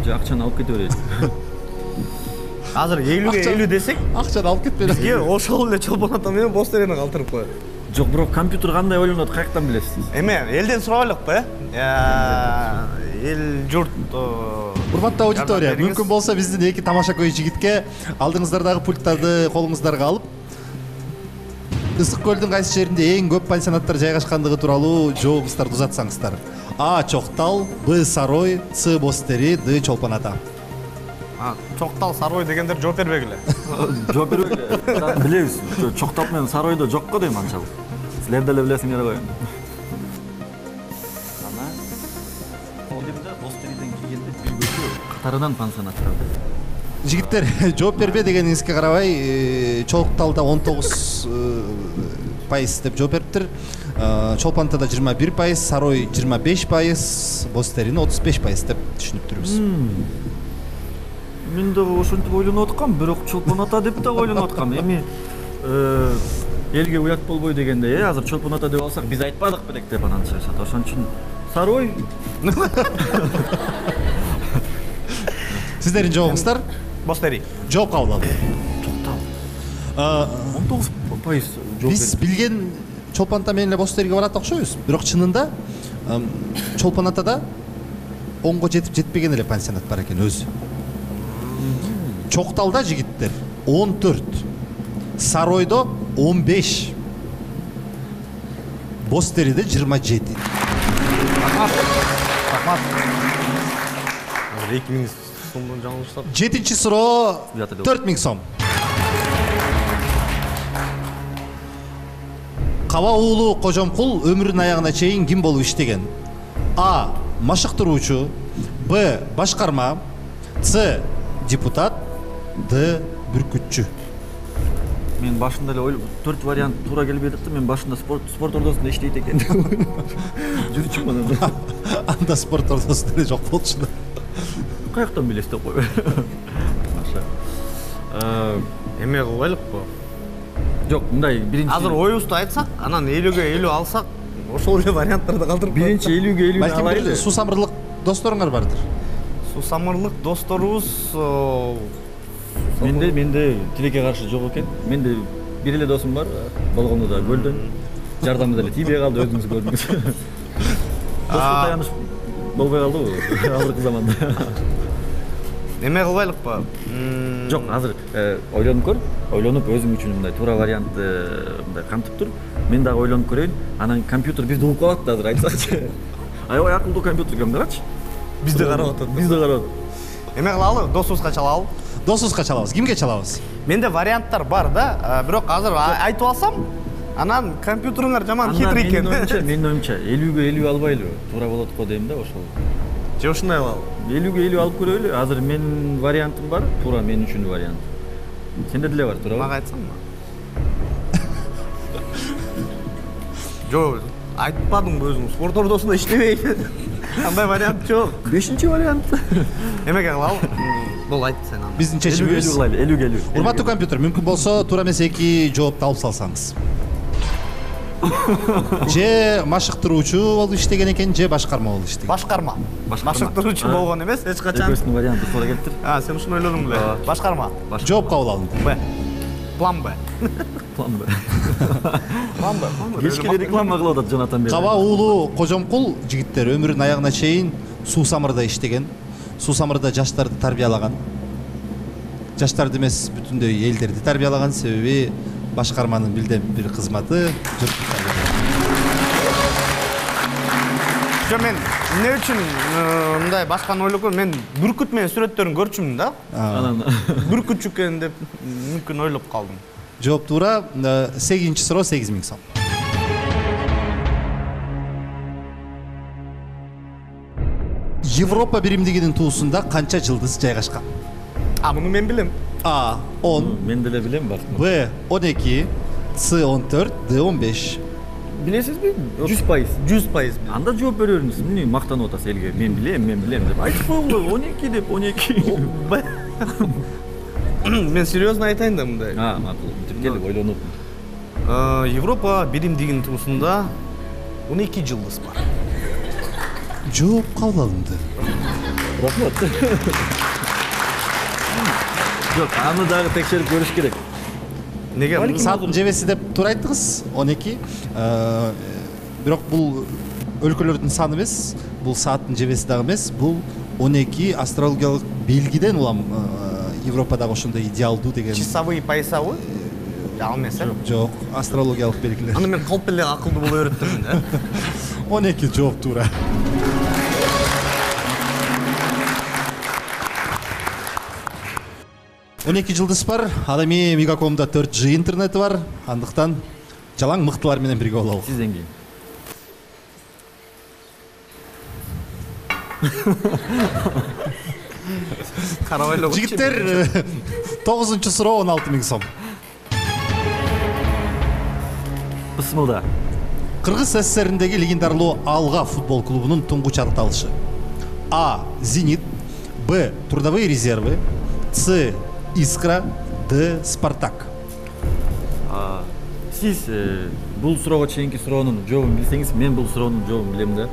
же акчаны алып кете берели. Азыр элүүгө элүү десек, акчаны алып кетпели. бизге ошол эле Чолпон ата менен Бостерини калтырып коет. Жок, бирок компьютер кандай ойлонот, каяктан билесиз? Эме, элден сурабайлыкпы, э? Эл журт Урматтуу аудитория, жардам бериңиз. мүмкүн болсо биздин эки тамаша көй жигитке алдыңыздардагы пульттарды колуңуздарга алып, Ысык көлдүн кайсы жеринде эң көп пансионаттар жайгашкандыгы тууралуу жообуңуздарды узатсаңыздар. А. Чоктал, Б. Сарой, С. Бостери, Д. Чолпон ата. Чоктал, Сарой дегендер жооп бербегиле. Жооп бербейли. Билебиз. Чоктал менен Саройдо жок го дейм анчалык. Силер деле билесиңер го. Ана Одимде Бостериден кийинде бир көчө катарынан пансионаттар. Жигиттер, жооп бербе дегениңизге карабай, Чокталда он тогуз пайыз деп жооп бериптир. Чолпон атада жыйырма бир пайыз, Сарой жыйырма беш пайыз, Бостерини отуз беш пайыз деп түшүнүптүрбүз. Мен дагы ошентип ойлонуп аткам, бирок Чолпон ата деп да ойлонуп аткам. Эми элге уят болбой дегенде, э, азыр Чолпон ата деп алсак, биз айтпадык белек деп анан чыгышат. Ошон үчүн Сарой. Сиздердин жообуңуздар? Бостери. Жооп кабыл алды. он тогуз пайыз жооп Биз билген Чолпон ата менен эле Бостериге барат окшойбуз, бирок чынында Чолпон атада онго жетип жетпеген эле пансионат бар экен өзү. Чокталда жигиттер он төрт, Саройдо он беш, Бостериде жыйырма жети. Рахмат. Рахмат. Азыр эки миң сомдон жаңылышсак. Жетинчи суроо төрт миң сом. Каба уулу Кожомкул өмүрүнүн аягына чейин ким болуп иштеген? А. Машыктыруучу, Б. Башкарма, С. Депутат, Д. Бүркүтчү. Мен башында эле ойлоп, төрт вариант туура келбей жатты. Мен башында спорт спорт ордосунда иштейт экен деп жүрчүмүн. Анда спорт ордосунда эле жок болчу да. Каяктан билесиз деп кой. Эме кылбайлыкпы? Жок, мындай биринчи Азыр оюбузду айтсак, анан элүүгө элүү алсак, ошол эле варианттарды калтырып коет. биринчи элүүгө элүү Балким алайлы. бир суусамырлык досторуңар бардыр. Сусамырлык досторубуз менде менде тилекке каршы жок экен. Менде бир эле досум бар, болгону да көлдөн. Жардамы деле тийбей калды, өзүңүз көрдүңүз. Достук таяныш болбой калдыбы азыркы заманда? Эме кылбайлыкпы? Жок, азыр ойлонуп көр. Ойлонуп өзүң үчүн мындай туура вариантты мындай камтып тур. Мен дагы ойлонуп көрөйүн. Анан компьютер бизди угуп калат да азыр айтсачы. Аябай акылдуу компьютер экен, карачы. Бизде карап атат. Бизде карап. Эме кылалы, досубузга чалалы. Досубузга чалабыз. Кимге чалабыз? Менде варианттар бар да, бирок азыр айтып алсам, анан компьютериңер жаман хитрый экен. Менин оюмча, менин оюмча элүүгө элүү албайлыбы? Туура болот го дейм да ошол. Же ушундай кылалы. элүүгө элүү алып көрөлү. Азыр менин вариантым бар, туура мен үчүн вариант. Сенде деле бар, туурабы? Мага айтсаңбы? Жок, айтпадыңбы өзүң? Спорт ордосунда иштебейт. Андай вариант жок. Бешинчи вариант. Эмеге кылалы? Бул айт сен аны. Биздин чечимибиз элүүгө элүү. Урматтуу компьютер, мүмкүн болсо туура эмес эки жоопду алып салсаңыз. Же машыктыруучу болуп иштеген экен, же башкарма болуп иштеген. Башкарма. Машыктыруучу болгон эмес, эч качан. Экөөсүнүн варианты туура келиптир. А, сен ушуну ойлодуң беле? Башкарма. Жооп кабыл алынды. Б. План Б. План Б. План Б. Кечке реклама кылып атат Жонатан Бey. Каба уулу Кожомкул жигиттер өмүрүнүн аягына чейин суу самырда иштеген. Суу самырда жаштарды тарбиялаган. Жаштарды эмес, бүтүндөй элдерди тарбиялаган, себеби башкарманын бирден бир кызматы жұртты тарбиялоо. Жо мен эмне үчүн мындай башканы ойлогом, мен бүркүт менен сүрөттөрүн көрчүмүн да. Анан Бүркүт экен деп мүмкүн ойлоп калдым. Жооп туура. сегизинчи суроо сегиз миң сом. Европа биримдигинин туусунда канча жылдыз жайгашкан? А, муну мен билем. А он, мен деле билем бар. Б он эки, С он төрт, Д он беш. Билесизби? жүз пайыз. жүз пайыз. Анда жооп бере бериңиз. Эмне мактанып атасыз элге? Мен билем, мен билем деп. Айтып койгула, он эки деп, он эки. Мен серьезно айтайын да мындай. А, макул. Тиркелип ойлонуп. Европа биримдигинин туусунда он эки жылдыз бар. Жооп кабыл алынды. Рахмат. Жок, аны дагы текшерип көрүш керек. Неге? Сааттын жебеси деп туура айттыңыз, он эки. Бирок бул өлкөлөрдүн саны эмес, бул сааттын жебеси дагы эмес, бул он эки астрологиялык белгиден улам Европадагы ошондой идеалдуу деген. Часовые поясабы? Ал эмес, э? Жок, астрологиялык белгилер. Аны мен калп эле акылдуу боло береттимин да. он эки жооп туура. он эки жылдыз бар. Ал эми Мегакомдо төрт жи интернети бар. Андыктан жалаң мыктылар менен бирге бололу. Сизден кийин. Карабайлоо. Жигиттер, тогузунчу суроо он алты миң сом. Бысмылда. Кыргыз СССРиндеги легендарлуу Алга футбол клубунун туңгуч аталышы. А. Зенит, Б. Трудовые резервы, С. Искра, Д. Спартак. Сиз бул суроого чейинки суроонун жообун билсеңиз, мен бул суроонун жообун билем да,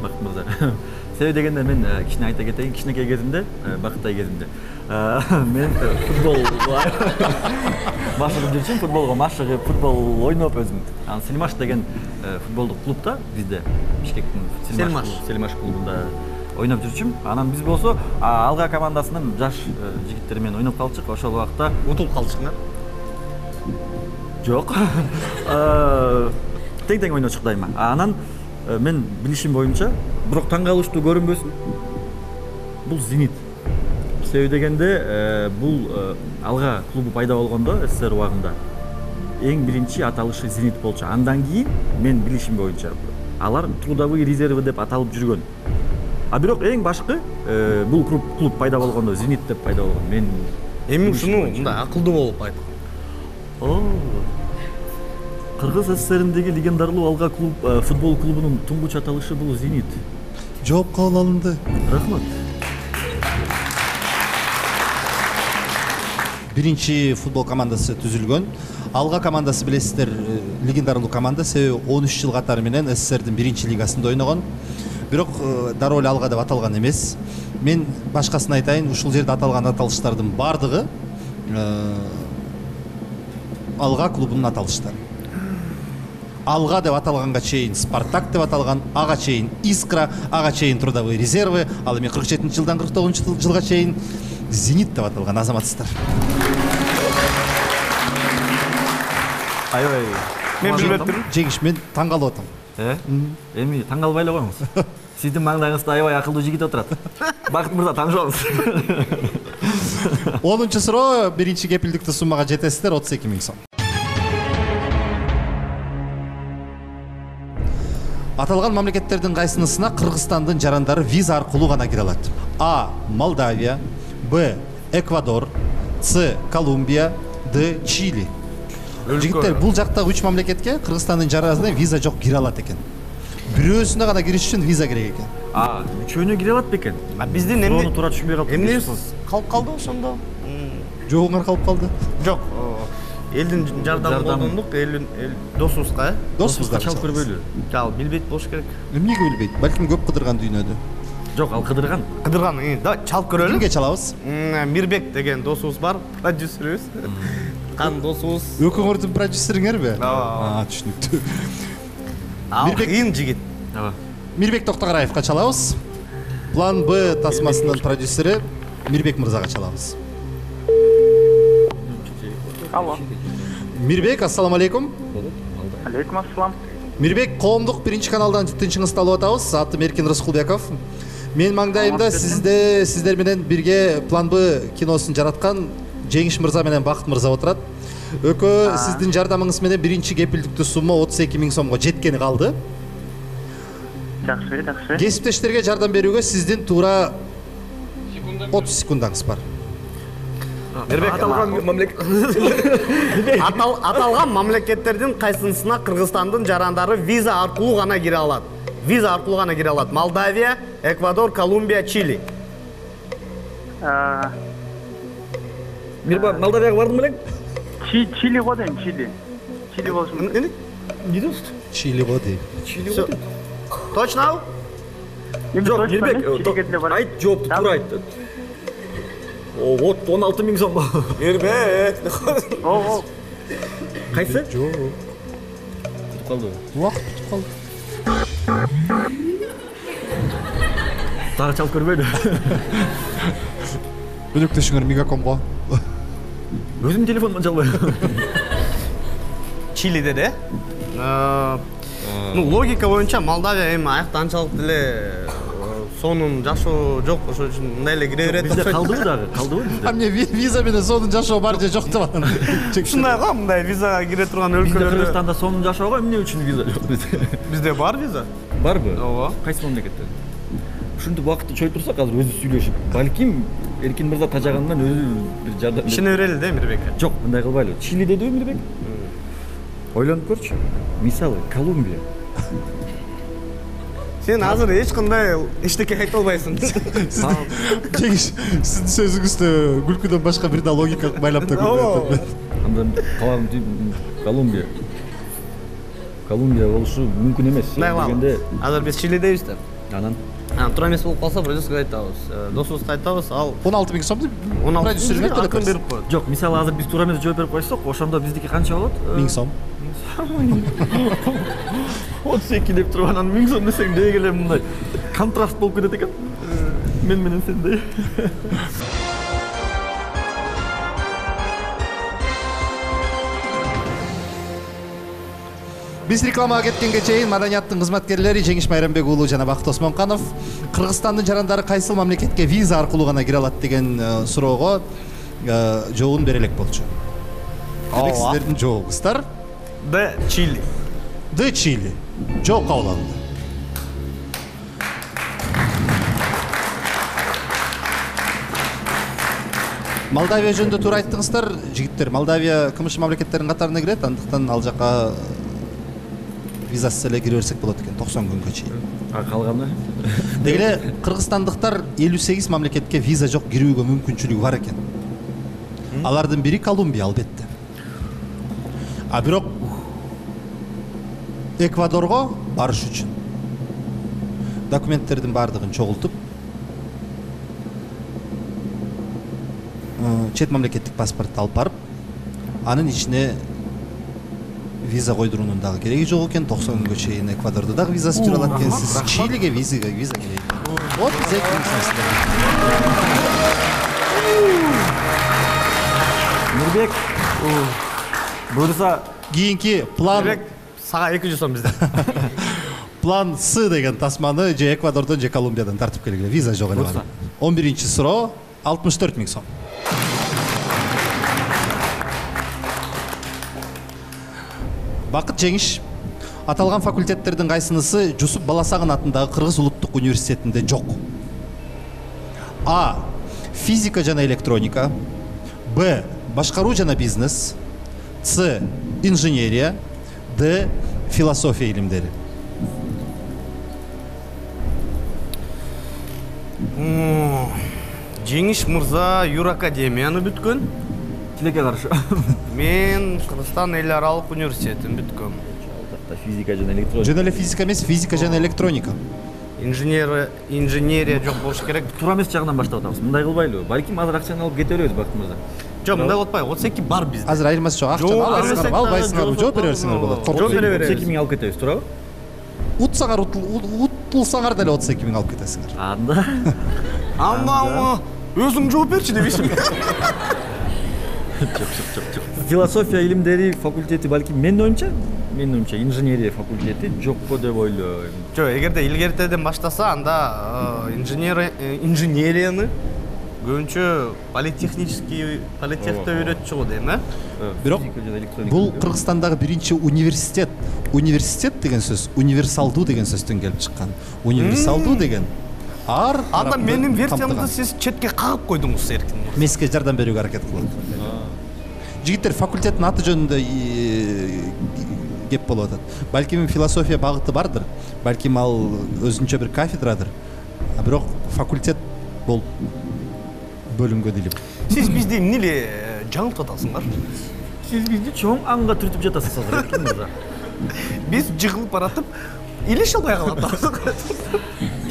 Бакыт мырза. Себеби дегенде мен кичине айта кетейин, кичинекей кезимде, Бакыттай кезимде, мен футбол машыгып жүрчүмүн, футболго машыгып, футбол ойноп өзүм. Анан Селимаш деген футболдук клубда бизде Бишкектин Селимаш Селимаш клубунда ойноп жүрчүмүн. Анан биз болсо Алга командасынын жаш жигиттери менен ойноп калчык. Ошол убакта утулуп калчыңар? Жок. Тең-тең ойночук дайыма. Анан мен билишим боюнча, бирок таң калыштуу көрүнбөсүн, бул Зенит. Себеби дегенде бул Алга клубу пайда болгондо СССР убагында эң биринчи аталышы Зенит болчу. Андан кийин мен билишим боюнча алар трудовые резервы деп аталып жүргөн. А бирок эң башкы бул клуб клуб пайда болгондо Зенит деп пайда болгон. Мен эми ушуну мындай акылдуу болуп айткан. О. Кыргыз СССРиндеги легендарлуу Алга клуб футбол клубунун туңгуч аталышы бул Зенит. Жооп кабыл алынды. Рахмат. Биринчи футбол командасы түзүлгөн. Алга командасы билесиздер, легендарлуу команда, себеби он үч жыл катары менен СССРдин биринчи лигасында ойногон. Бирок дароо эле Алга деп аталган эмес. мен башкасын айтайын, ушул жерде аталган аталыштардын баардыгы Алга клубунун аталыштары. Алга деп аталганга чейин Спартак деп аталган, ага чейин Искра, ага чейин Трудовые резервы, ал эми кырк жетинчи жылдан кырк тогузунчу жылга чейин Зенит деп аталган азаматсыздар. Аябай. Мен билбеп турмун. Жеңиш, мен таң калып атам. Э? Эми таң калбай эле коюңуз. Сиздин маңдайыңызда аябай акылдуу жигит отурат. Бакыт мырза, таңшыбаңыз. онунчу суроо, биринчи кепилдиктүү суммага жетесиздер, отуз эки миң сом. Аталган мамлекеттердин кайсынысына Кыргызстандын жарандары виза аркылуу гана кире алат? А. Молдавия, Б. Эквадор, С. Колумбия, Д. Чили. Жигиттер, бул жактагы үч мамлекетке Кыргызстандын жарандары виза жок, кире алат экен. Бирөөсүнө гана кириш үчүн виза керек экен. А, үчөөнө кире алат бекен? А биздин эмне? Суроону туура түшүнбөй калдым. Эмнебиз калып калды ошондо? Жогуңар калып калды? Жок. Элдин жардамын колдондук, элдин досубузга, э? Досубузга чалып көрбөйлү. Жал билбейт болуш керек. Эмнеге билбейт? Балким көп кыдырган дүйнөдө. Жок, ал кыдырган. Кыдырган, да, чалып көрөлү. Кимге чалабыз? Мирбек деген досубуз бар, продюсерибиз. Кан досубуз. Экөөңөрдүн продюсериңерби? Ооба. А, түшүнүктүү. Ал кыйын жигит. Ооба. Мирбек Токтогораевка чалабыз. План Б тасмасынын продюсери Мирбек мырзага чалабыз. Алло. Мирбек, ассаламу алейкум. Алейкум ассалам. Мирбек, коомдук биринчи каналдан тынчыңызды алып атабыз. Атым Эркин Рыскулбеков. Мен маңдайымда сизде сиздер менен бирге План Б киносун жараткан Жеңиш мырза менен Бакыт мырза отурат. Экөө сиздин жардамыңыз менен биринчи кепилдиктүү сумма отуз эки миң сомго жеткени калды. Жакшы, жакшы. Кесиптештерге жардам берүүгө сиздин туура отуз секундаңыз бар. Аталган мамлекет Аталган мамлекеттердин кайсынысына Кыргызстандын жарандары виза аркылуу гана кире алат? Виза аркылуу гана кире алат. Молдавия, Эквадор, Колумбия, Чили. Мирба, Молдавияга бардың белең? Чили го дейм, Чили. Чили болушу мүмкүн. Эмне? Не дейсиз? Чили го дейм. Чили го дейм. Точно? Жок, Мирбек, айт, жоопту туура айт. О, вот он алты миң сом. Мирбек. О, Кайсы? Жок. Кутуп калды. Убакыт бүтүп калды. Дагы чалып көрбөйлү. Өнөктөшүңөр Мегакомго. Өзүм телефонуман чалбайм. Чили деди, э? Ну, логика боюнча Молдавия эми аякта анчалык деле сонун жашоо жок, ошол үчүн мындай эле кире берет. Бизде калдыбы дагы? Калдыбы бизде? А мне виза менен сонун жашоо бар же жок деп атам. Ушундай го, мындай визага кире турган Бизде өлкөлөрдө. Кыргызстанда сонун жашоого эмне үчүн виза жок бизде? Бизде бар виза. Барбы? Ооба. Кайсы мамлекетте? Ушинтип убакытты чоюп турсак азыр өзү сүйлөшүп, балким Эркин мырза тажагандан өзү бир жардам. Ишене берели да Мирбекке. Жок, мындай кылбайлы. Чили дедиби Мирбек? Ойлонуп көрчү. Мисалы, Колумбия. Сен азыр эч кандай эчтеке айта албайсың. Жеңиш, сиздин сөзүңүздө күлкүдөн башка бир да логика байлап да көрбөйт. Анда калагым тип Колумбия. Колумбия болушу мүмкүн эмес. Дегенде азыр биз Чилидебиз да. Анан туура эмес болуп калса продюсерге айтабыз. Досубузга айтабыз, ал он алты миң сомду продюсерге төлөп берип коет. жок, мисалы азыр биз туура эмес жооп берип койсок, ошондо биздики канча болот? миң сом. отуз эки деп туруп анан миң сом десең деги эле мындай контраст болуп кетет экен. Мен менен сендей. Биз рекламага кеткенге чейин маданияттын кызматкерлери Жеңиш Майрамбек уулу жана Бакыт Осмонканов Кыргызстандын жарандары кайсыл мамлекетке виза аркылуу гана кире алат деген суроого жообун бере элек болчу. Демек сиздердин жообуңуздар Д. Чили. Д. Чили. Жооп кабыл алынды. Молдавия жөнүндө туура айттыңыздар, жигиттер. Молдавия кымыш мамлекеттердин катарына кирет, андыктан ал жака визасыз эле кире берсек болот экен токсон күнгө чейин. А калганы? Деги эле кыргызстандыктар элүү сегиз мамлекетке виза жок кирүүгө мүмкүнчүлүгү бар экен. Алардын бири Колумбия албетте. А бирок Эквадорго барыш үчүн документтердин баардыгын чогултуп чет мамлекеттик паспортду алып барып, анын ичине виза койдуруунун дагы кереги жок экен. токсон күнгө чейин Эквадордо дагы визасы жүрө алат экенсиз. Чилиге визага виза керек экен. Вот биз эки миң Нурбек, буюрса кийинки план сага эки жүз сом бизден. план С деген тасманы же Эквадордон же Колумбиядан тартып келгиле. Виза жок эле. он биринчи суроо алтымыш төрт миң сом. Бакыт жеңиш. Аталган факультеттердин кайсынысы Жусуп Баласагын атындагы Кыргыз улуттук университетинде жок? А. Физика жана электроника. Б. Башкаруу жана бизнес. С. Инженерия. Д. Философия илимдери. Жеңиш мырза юракадемияны бүткөн. Тилекке каршы. Мен Кыргызстан эл аралык университетин бүткөм. Физика жана электроника. Жөн эле физика эмес, физика жана электроника. Инженер инженерия жок болуш керек. Туура эмес жагынан баштап атабыз. Мындай кылбайлыбы? Балким азыр акчаны алып кете беребиз, Бакыт мырза. Жок, мындай кылып атпайбы? отуз эки бар бизде. Азыр айырмасы жок. Акчаны аласыңарбы, албайсыңарбы, жооп бере берсеңер болот. Жооп бере беребиз. отуз эки миң алып кетебиз, туурабы? Утсаңар утулсаңар деле отуз эки миң алып кетесиңер. Анда. Анда өзүң жооп берчи дебейсиңби? Жок, жок, жок. Философия илимдери факультети балким менин оюмча, менин оюмча инженерия факультети жокпу деп ойлойм. Жок, эгерде илгертеден баштаса, анда инженерияны көбүнчө политехнический политехте үйрөтчү го дейм, э? Бирок бул Кыргызстандагы биринчи университет. Университет деген сөз универсалдуу деген сөздөн келип чыккан. Универсалдуу деген ар анда менин версиямды сиз четке кагып койдуңуз, эркин. Мен сизге жардам берүүгө аракет кылам. Жигиттер, факультеттин аты жөнүндө кеп болуп атат. Балким философия багыты бардыр. Балким ал өзүнчө бир кафедрадыр. А бирок факультет болуп бөлүнгө делип. Сиз бизди эмнеле жаңылтып атасыңар? Сиз бизди чоң аңга түртүп жатасыз азыр, эркин мырза. Биз жыгылып баратып, илеше албай калабыз.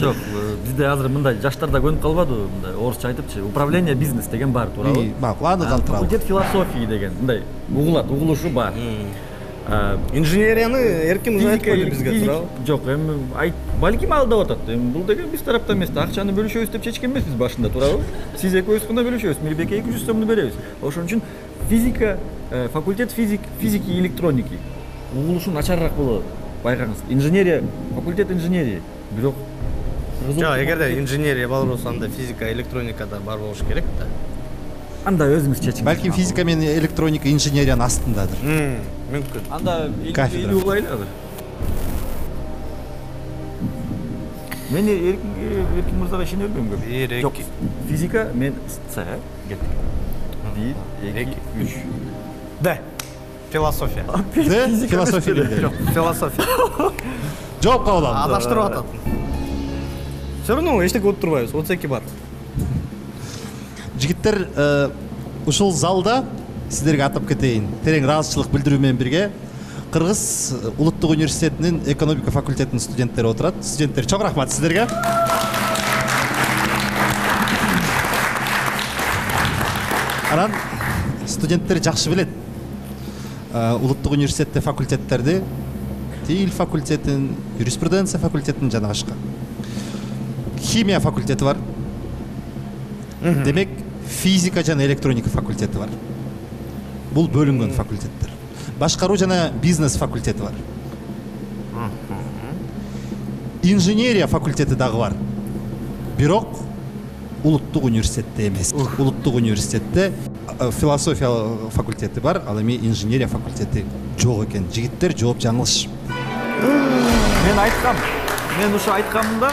Жок, бизде азыр мындай жаштар да көнүп калбадыбы, мындай орусча айтыпчы, управление бизнес деген бар, туурабы? Макул, аны калтыралы. Факультет философии деген мындай угулат, угулушу бар. Инженерияны эркин мырза айтып койду бизге, туурабы? Жок, эми айт, балким алдап атат. Эми бул деген биз тараптан эмес, акчаны бөлүшөбүз деп чечкен эмеспиз башында, туурабы? Сиз экөөбүз гана бөлүшөбүз, Мирбекке эки жүз сомду беребиз. Ошон үчүн физика, факультет физик, физики и электроники угулушу начарыраак болот. Байкаңыз, инженерия, факультет инженерия, бирок жок, эгерде инженерия бар болсо, анда физика, электроника да бар болуш керек да. Анда өзүңүз чечиңиз. Балким физика менен электроника инженериянын астындадыр. Мүмкүн. Анда кафедра элүү кылайлы азыр. Мен эркин мырзага ишене бербейм көп. бир, эки. Физика мен С кеттик. бир, эки, үч. Д. Философия. Д. Философия илимдери. Жок, философия. Жооп кабыл алам. Адаштырып атат. Все равно эчтеке болуп турбайбыз, отуз эки бар. Жигиттер, ушул залда сиздерге атап кетейин, терең ыраазычылык билдирүү менен бирге Кыргыз улуттук университетинин экономика факультетинин студенттери отурат. Студенттер, чоң рахмат сиздерге. Анан студенттер жакшы билет. Улуттук университетте факультеттерди, тил факультетин, юриспруденция факультетин жана башка. Химия факультети бар. Демек, физика жана электроника факультети бар. Бул бөлүнгөн факультеттер. Башкаруу жана бизнес факультети бар. Инженерия факультети дагы бар. Бирок улуттук университетте эмес. Улуттук университетте философия факультети бар, ал эми инженерия факультети жок экен. Жигиттер, жооп жаңылыш. Мен айткам. Мен ушу айткамын да.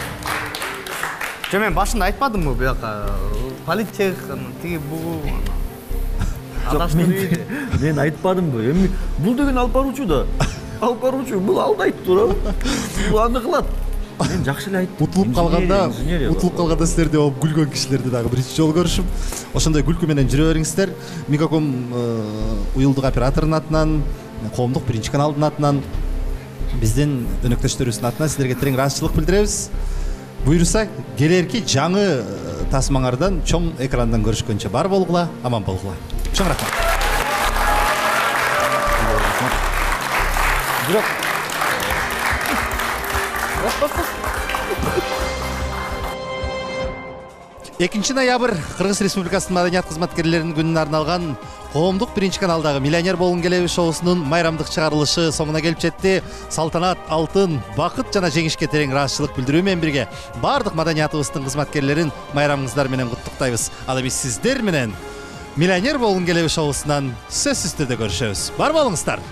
Жо, мен башында айтпадымбы буяка политех, тиги бул адаштырып. Мен айтпадымбы? Эми бул деген алып баруучу да. Алып баруучу бул алдайт, туурабы? Бул аны кылат. Мен жакшы эле айттым. Утулуп калганда, утулуп калганда силерди оп күлгөн кишилерди дагы биринчи жолу көрүшүм. Ошондой күлкү менен жүрө бериңиздер. Мегаком уюлдук операторунун атынан, коомдук биринчи каналдын атынан, биздин өнөктөштөрүбүздүн атынан силерге терең ыраазычылык билдиребиз. буюрса келерки жаңы тасмаңардан чоң экрандан көрүшкөнчө бар болгула, аман болгула. Чоң рахмат. Бирок экинчи ноябрь Кыргыз Республикасынын маданият кызматкерлеринин күнүнө арналган коомдук биринчи каналдагы Миллионер болгун келеби шоусунун майрамдык чыгарылышы соңуна келип жетти. Салтанат, алтын, бакыт жана жеңишке терең ыраазычылык билдирүү менен бирге бардык маданиятыбыздын кызматкерлерин майрамыңыздар менен куттуктайбыз. Ал эми сиздер менен Миллионер болгун келеби шоусунан сөзсүз түрдө көрүшөбүз. Бар болуңуздар.